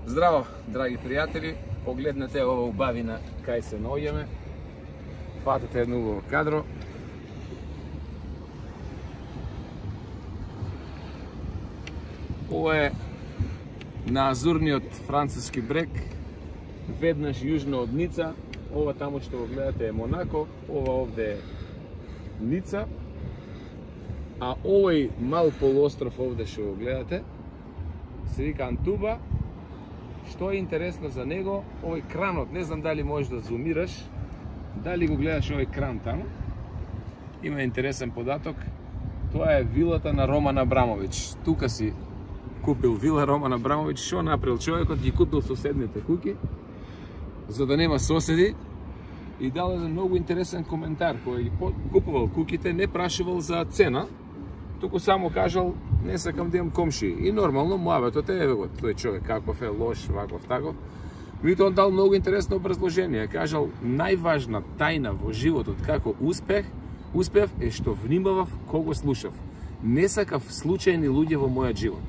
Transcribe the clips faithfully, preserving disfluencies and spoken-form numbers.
Здраво, драги пријатели, погледнете ова убавина кај се наоѓаме. Фатете едно убаво кадро. Ова е на азурниот француски брег, веднаш јужно од Ница. Ова таму што го гледате е Монако, ова овде е Ница. А овој мал полуостров овде што го гледате се вика Антуба. Што е интересно за него, овој кранот, не знам дали можеш да зумираш, дали го гледаш овој кран таму. Има интересен податок, тоа е вилата на Роман Абрамович. Тука си купил вила Роман Абрамович, што направил човекот, ги купил соседните куки, за да нема соседи, и дал еден многу интересен коментар, кој ги купувал куките, не прашувал за цена, туку само кажал, не сакам да имам комши. И нормално, муабетот е, еве го, тој човек каков е, лош, ваков, таков. Меѓутоа он дал многу интересно образложение. Кажал, најважна тајна во животот како успех, успев е што внимавав кого слушав. Не сакав случајни луѓе во мојот живот.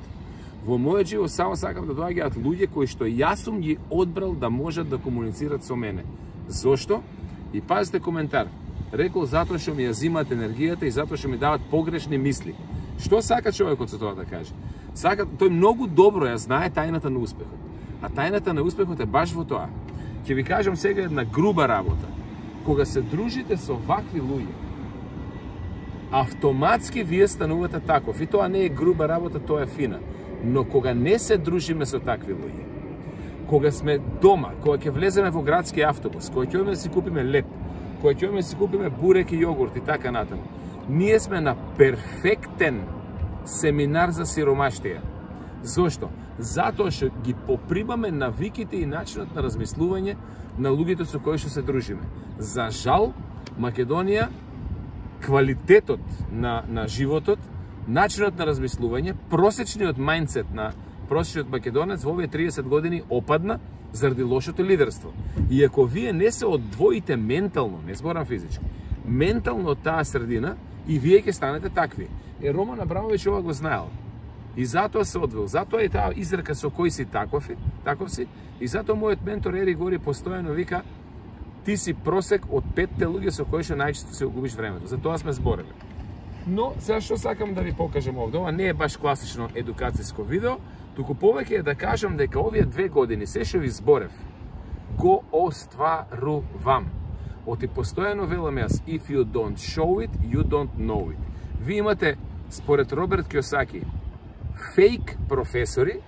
Во мојот живот само сакам да доаѓаат луѓе кои што јас сум ги одбрал да можат да комуницират со мене. Зошто? И пазите коментар. Рекол затоа што ми ја зимаат енергијата и затоа што ми дават погрешни мисли. Што сака човекот со тоа да каже? Сака, тој многу добро ја знае тајната на успехот. А тајната на успехот е баш во тоа. Ќе ви кажам сега една груба работа. Кога се дружите со вакви луѓе, автоматски вие станувате таков. И тоа не е груба работа, тоа е фина. Но кога не се дружиме со такви луѓе, кога сме дома, кога ќе влеземе во градски автобус, кога ќе одиме да си купиме леп, кога ќе одиме да си купиме бурек и јогурт и така натаму, ние сме на перфектен семинар за сиромаштија. Зошто? Затоа што ги попримаме навиките и начинот на размислување на луѓето со кои што се дружиме. За жал, Македонија, квалитетот на, на животот, начинот на размислување, просечниот мајндсет на просечниот македонец во овие триесет години опадна заради лошото лидерство. И ако вие не се одвоите ментално, не зборам физички, ментално од таа средина, и вие ќе станете такви. Е, Роман Абрамович ова го знаел. И затоа се одвел. Затоа е таа изрека со кој си таков, таков си. И затоа мојот ментор Ери Гори постојано вика, ти си просек од петте луѓе со кои што најчесто се губиш времето. За тоа сме зборели. Но сега што сакам да ви покажам овде, ова не е баш класично едукацијско видео, туку повеќе е да кажам дека овие две години се што ви зборев го остварувам. Оти постојано велам јас, if you don't show it, you don't know it. Ви имате, според Роберт Киосаки, фейк професори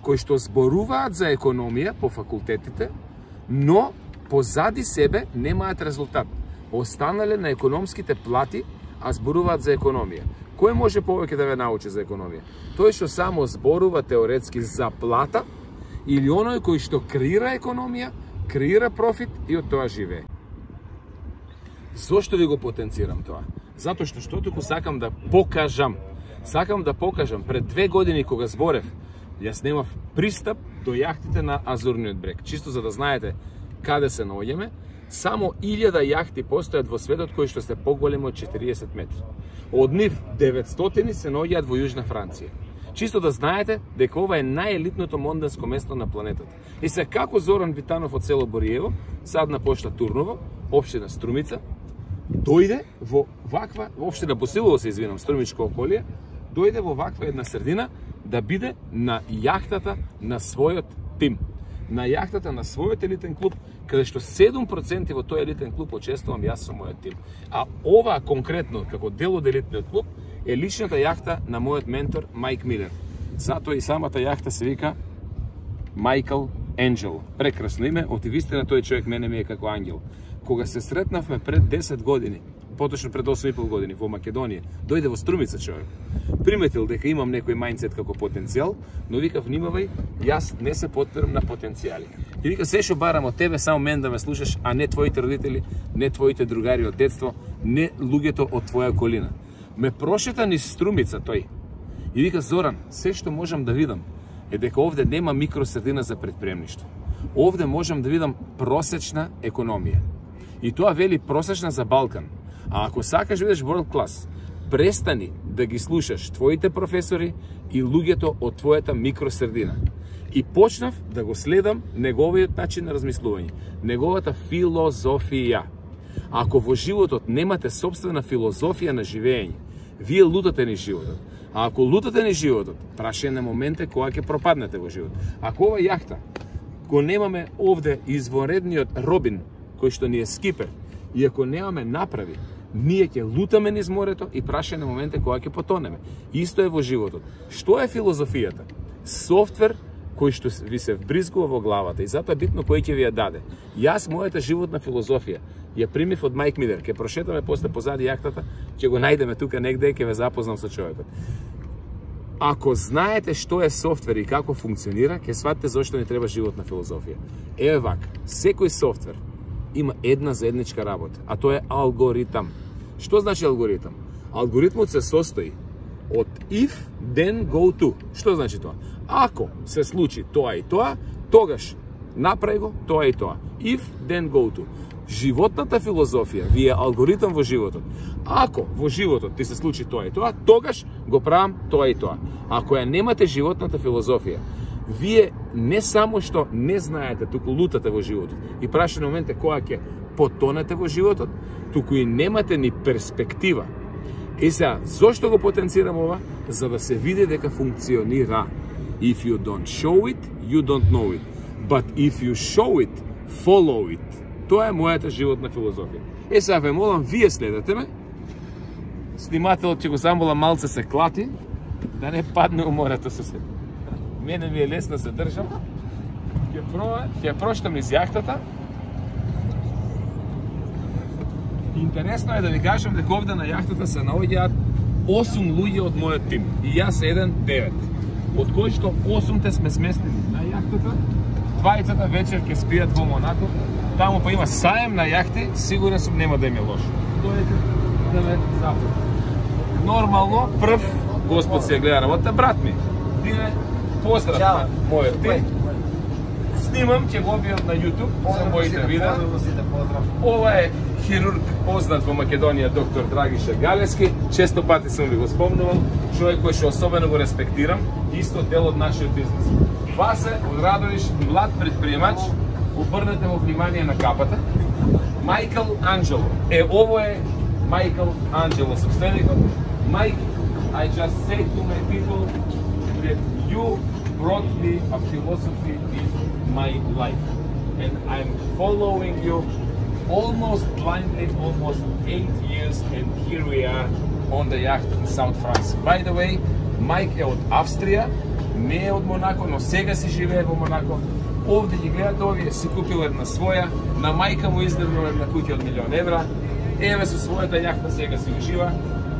кои што зборуваат за економија по факултетите, но позади себе немаат резултат. Останале на економските плати, а зборуваат за економија. Кој може повеќе да ве научи за економија? Тој што само зборува теоретски за плата или оној кој што креира економија, креира профит и од тоа живее. Зошто ви го потенцирам тоа? Затоа што што туку сакам да покажам. Сакам да покажам пред две години кога зборев, јас немав пристап до јахтите на Азурниот брег. Чисто за да знаете каде се наоѓаме, само илјада јахти постојат во светот кои што се поголеми од четириесет метри. Од нив деветстотини се наоѓаат во Јужна Франција. Чисто да знаете дека ова е најелитното монденско место на планетата. И се како Зоран Витанов од село Бориево, садна пошта Турново, општина Струмица, дојде во ваква, општина Босилово се извинам, Струмичко околие, дојде во ваква една средина да биде на јахтата на својот тим. На јахтата на својот елитен клуб, каде што седум проценти во тој елитен клуб учествувам јас со мојот тим. А ова конкретно, како дел од елитниот клуб, е личната јахта на мојот ментор Майк Милер. Затоа и самата јахта се вика Майкл Енджел. Прекрасно име, од вистина тој човек мене ми е како ангел. Кога се сретнавме пред десет години, поточно пред осум и пол години во Македонија, дојде во Струмица човек. Приметил дека имам некој мајндсет како потенцијал, но вика внимавај, јас не се потпирам на потенцијали. И вика се што барам од тебе, само мен да ме слушаш, а не твоите родители, не твоите другари од детство, не луѓето од твоја околина. Ме прошета низ Струмица тој. И вика Зоран, се што можам да видам е дека овде нема микросредина за предприемништво. Овде можам да видам просечна економија. И тоа вели просечна за Балкан. А ако сакаш да видиш world class, Престани да ги слушаш твоите професори и луѓето од твојата микросредина. И почнав да го следам неговиот начин на размислување, неговата филозофија. Ако во животот немате собствена филозофија на живење, вие лутате ни животот. А ако лутате ни животот, прашање на моменте кога ќе пропаднете во живот. Ако ова јахта го немаме овде извонредниот Робин, кој што ни е скипер, и ако немаме направи, ние ќе лутаме низ морето и прашање на моменте кога ќе потонеме. Исто е во животот. Што е филозофијата? Софтвер кој што ви се вбризгува во главата и затоа битно кој ќе ви ја даде. Јас мојата животна филозофија ја примив од Майк Милер. Ќе прошетаме после позади јахтата, ќе го најдеме тука негде и ќе ве запознам со човекот. Ако знаете што е софтвер и како функционира, ќе сватите зошто ни треба животна филозофија. Еве вака, секој софтвер има една заедничка работа, а тоа е алгоритам. Што значи алгоритам? Алгоритмот се состои од if, then, go to. Што значи тоа? Ако се случи тоа и тоа, тогаш направи го тоа и тоа. If, then, go to. Животната филозофија ви е алгоритам во животот. Ако во животот ти се случи тоа и тоа, тогаш го правам тоа и тоа. Ако ја немате животната филозофија, вие не само што не знаете, туку лутате во животот и прашање на моменте кога ќе потонете во животот, туку и немате ни перспектива. И сега, зошто го потенцирам ова? За да се види дека функционира. If you don't show it, you don't know it. But if you show it, follow it. Тоа е мојата животна филозофија. Е, сега ве молам, вие следете ме. Снимателот ќе го замолам малце се клати, да не падне у морето со се. Мене ми е лесно се држам. Ќе пробам, ќе проштам низ јахтата. Интересно е да ви кажам дека овде на јахтата се наоѓаат осум луѓе од мојот тим. И јас еден девет. Од кои што осумте сме сместени на јахтата, двајцата вечер ќе спијат во Монако. Таму па има саем на јахти, сигурен сум нема да им е лошо. Дојдете да ме запознате. Нормално, прв Господ се гледа работа, брат ми. Дине, поздрав на мојот тим. Снимам, ќе го објавам на YouTube за моите видеа. Ова е хирург познат во Македонија, доктор Драгиша Галески. Често пати сум ви го спомнувал. Човек кој што особено го респектирам, исто дел од нашиот бизнес. Васе од Радовиш, млад предприемач, обрнете во внимание на капата. Майкл Анджело. Е, ово е Майкл Анджело, собственикот. Майк, I just say to my people that you brought me a philosophy in my life. And I'm following you almost blindly, almost eight years, and here we are on the yacht in South France. By the way, Майк е од Австрија, не е од Монако, но сега си живее во Монако. Овде ги гледате, овие си купил една своја, на мајка му издрнал една куќа од милион евра, еве со својата јахта сега си ужива.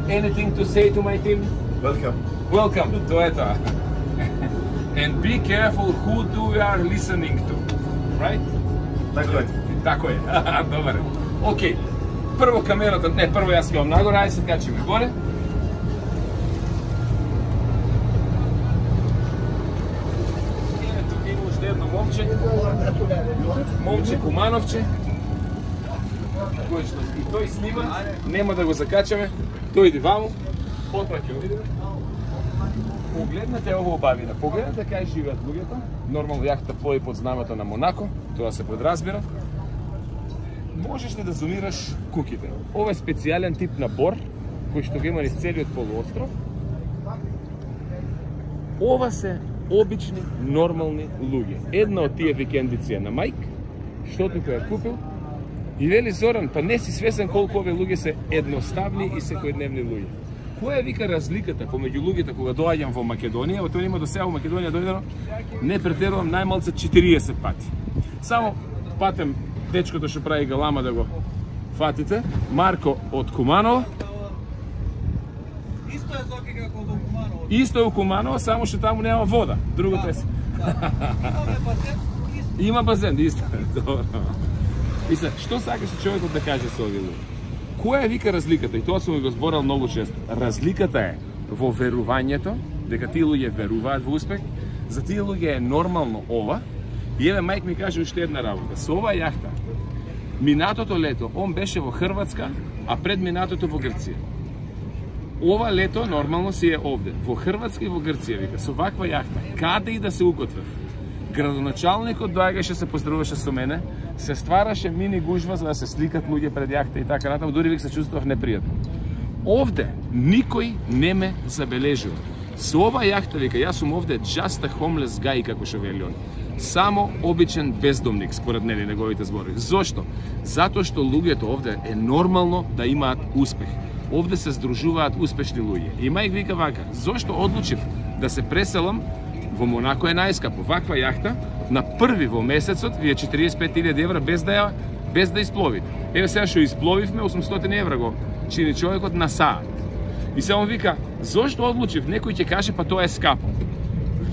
Anything to say to my team? Welcome. Welcome, тоа е тоа. And be careful who do you are listening to, right? Тако е. Тако е, добар. Океј, прво камерата, не, прво јас ќе вам нагоре, ајде се качиме горе. Ето има уште едно момче, момче Кумановче, кој што и тој снима, нема да го закачаме, тој иди ваму, потоа ќе видиме. Погледнете ово убавина, погледнете кај живеат луѓето. Нормално јахта плови под знамето на Монако, тоа се подразбира. Можеш ли да зумираш куќите? Ова е специјален тип на бор, кој што го има низ целиот полуостров. Ова се обични, нормални луѓе. Една од тие викендици е на Майк, што тука ја купил. И вели Зоран, па не си свесен колку овие луѓе се едноставни и секојдневни луѓе. Која е вика разликата помеѓу луѓето кога доаѓам во Македонија? Во тоа има до сега во Македонија дојдено, не претерувам најмалце четириесет пати. Само патем дечкото што прави галама да го фатите. Марко од Куманово. Исто е Зоки како од Куманово. Исто е у Куманово, само што таму нема вода. Другото е. Имаме базен, исто. Има базен, исто. Добро. И се, што сакаше човекот да каже со овие луѓе? Која е вика разликата? И тоа сум го зборал многу често. Разликата е во верувањето, дека тие луѓе веруваат во успех. За тие луѓе е нормално ова. И еве Майк ми каже уште една работа. Со оваа јахта, минатото лето, он беше во Хрватска, а пред минатото во Грција. Ова лето нормално си е овде, во Хрватска и во Грција, вика, со ваква јахта, каде и да се укотвев. Градоначалникот доаѓаше, се поздравуваше со мене, се ствараше мини гужва за да се сликат луѓе пред јахта и така натаму, дури вик се чувствував непријатно. Овде никој не ме забележува. Со ова јахта, вика, јас сум овде just a homeless guy, како што вели он. Само обичен бездомник, според нели неговите зборови. Зошто? Затоа што луѓето овде е нормално да имаат успех. Овде се здружуваат успешни луѓе. И мајк вика вака, зошто одлучив да се преселам во Монако е најскапо. Ваква јахта на први во месецот ви е четириесет и пет илјади евра без да ја без да испловите. Еве сега што испловивме осумстотини евра го чини човекот на саат. И се он вика, зошто одлучив? Некој ќе каже па тоа е скапо.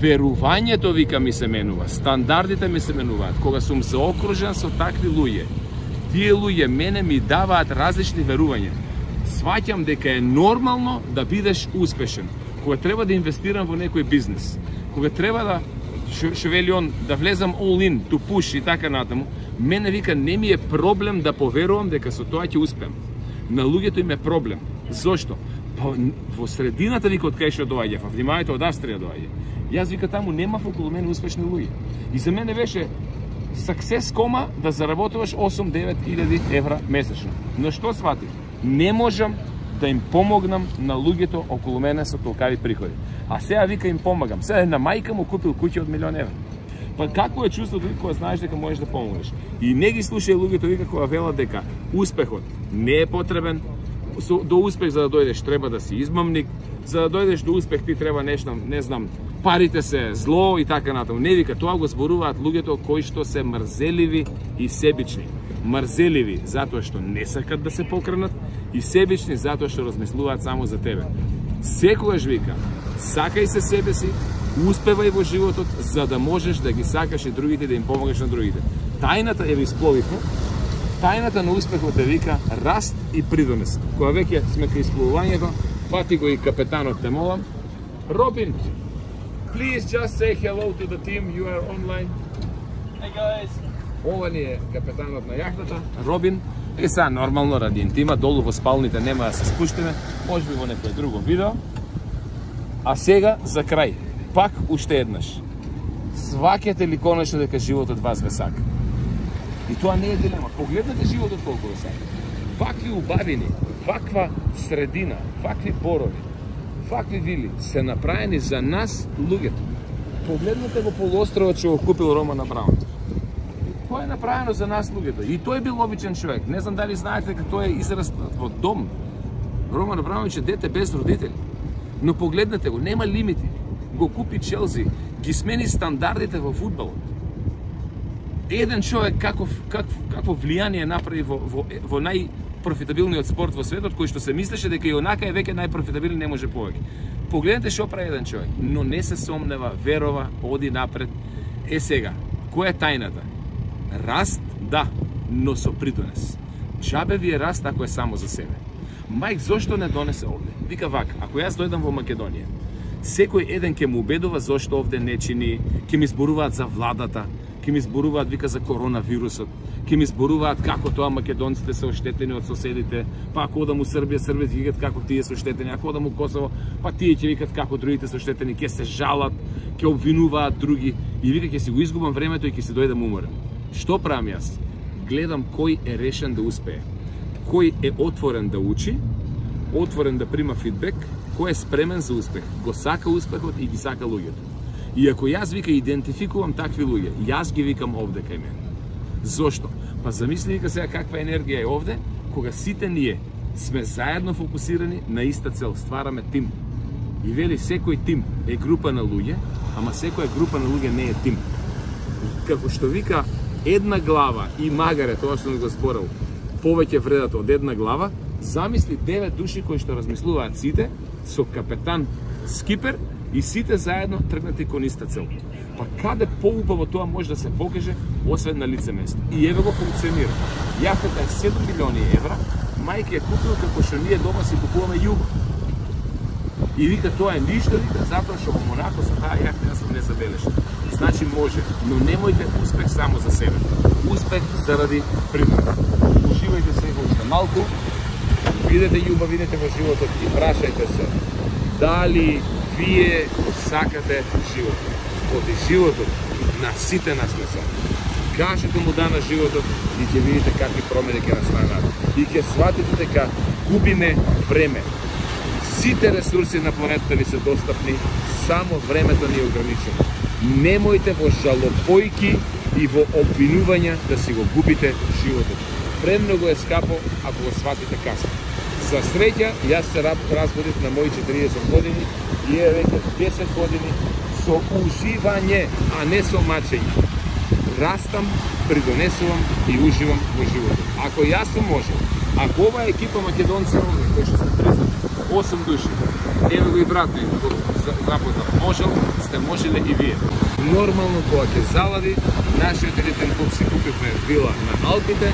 Верувањето, вика, ми се менува, стандардите ми се менуваат. Кога сум заокружен со такви луѓе, тие луѓе мене ми даваат различни верувања. Сваќам дека е нормално да бидеш успешен. Кога треба да инвестирам во некој бизнес, кога треба да, што вели он, да влезам all in, to push и така натаму, мене вика не ми е проблем да поверувам дека со тоа ќе успеам. На луѓето им е проблем. Зошто? Па во средината, вика, од кај што доаѓа, внимавајте, од Австрија доаѓа. Јас, вика, таму немав околу мене успешни луѓе. И за мене беше success кома да заработуваш осум-девет илјади евра месечно. Но што сватив? Не можам да им помогнам на луѓето околу мене со толкави приходи. А сега, вика, им помагам. Сега на мајка му купил куќа од милион евра. Па какво е чувството кога знаеш дека можеш да помогнеш? И не ги слушај луѓето, вика, кога велат дека успехот не е потребен. До успех за да дојдеш треба да си измамник, за да дојдеш до успех ти треба нешто, не знам, парите се зло и така натаму. Не, вика, тоа го зборуваат луѓето кои што се мрзеливи и себични. Мрзеливи затоа што не сакат да се покренат и себични затоа што размислуваат само за тебе. Секогаш, вика, сакај се себе си, успевај во животот за да можеш да ги сакаш и другите, да им помогаш на другите. Тајната е ви спловивме. Тајната на успехот е, вика, раст и придонес. Кога веќе сме кај испловувањето, фати го и капетанот, те молам. Робин, please just say hello to the team, you are online. Hey guys. Ова ни е капетанот на јахтата, Робин. И сега, нормално, ради интима, долу во спалните нема да се спуштиме, може би во некој друго видео. А сега, за крај, пак уште еднаш. Сваќате ли конечно дека животот вас ве сака? И тоа не е дилема. Погледнете животот колку ве сака. Вакви убавини, ваква средина, вакви борови, вакви вили се направени за нас, луѓето. Погледнете го полуостровот што го купил Роман Абрамович. Тоа е направено за нас, луѓето. И тој бил обичен човек. Не знам дали знаете дека тој е израснат во дом. Роман Абрамович е дете без родители. Но погледнете го, нема лимити. Го купи Челси, ги смени стандардите во фудбалот. Еден човек каков, каков, какво влијание направи во, во, во најпрофитабилниот спорт во светот, кој што се мислеше дека и онака е веќе најпрофитабилен, не може повеќе. Погледнете што прави еден човек, но не се сомнева, верова, оди напред. Е сега, која е тајната? Раст, да, но со придонес. Джабе ви е раст ако е само за себе. Мајк, зошто не донесе овде? Вика вака, ако јас дојдам во Македонија, секој еден ќе му убедува зошто овде не чини, ќе ми зборуваат за владата, ќе ми зборуваат, вика, за коронавирусот, ќе ми зборуваат како тоа македонците се оштетени од соседите, па ако одам у Србија, Србија ќе викат како тие се оштетени, ако одам у Косово, па тие ќе викат како другите се оштетени, ќе се жалат, ќе обвинуваат други и вика ќе си го изгубам времето и ќе си дојдам уморен. Што правам јас? Гледам кој е решен да успее, кој е отворен да учи, отворен да прима фидбек, кој е спремен за успех, го сака успехот и ги сака луѓето. И ако јас, вика, идентификувам такви луѓе, јас ги викам овде кај мене. Зошто? Па замисли, вика, сега каква енергија е овде, кога сите ние сме заедно фокусирани на иста цел, ствараме тим. И вели, секој тим е група на луѓе, ама секоја група на луѓе не е тим. Како што вика, една глава и магаре, тоа што го зборал, повеќе вредат од една глава, замисли девет души кои што размислуваат сите, со капетан скипер, и сите заедно тргнати кон иста цел. Па каде поубаво тоа може да се покаже, освен на лице место. И еве го функционира. Јахтата е седум милиони евра, мајка е купил како што ние дома си купуваме југо. И вика тоа е ништо, вика, затоа што во Монако со таа јахта јас сум не забележен. Значи може, но немојте успех само за себе. Успех заради придонес. Уживајте се уште малку. видите љубавините во животот и прашајте се дали вие сакате животот. Оти животот на сите нас не сака. Кажете му да на животот и ќе видите какви промени ќе настанат. И ќе сватите дека губиме време. Сите ресурси на планетата ви се достапни, само времето ни е ограничено. Немојте во жалопојки и во обвинувања да си го губите животот. Премногу е скапо ако го сватите касно. За среќа, јас се разбудив на мои четириесет години и е веќе десет години со уживање, а не со мачење. Растам, придонесувам и уживам во животот. Ако јас сум можел, ако ова екипа македонци овде, кои што сте тридесет и осум души, еве го и брат ми го запознав, можел, сте можеле и вие. Нормално кога ќе залади, нашиот елитен клуб си купивме вила на Алпите,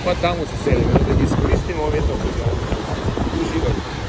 па таму се селиме, да ги искористиме овие толку. Уживајте.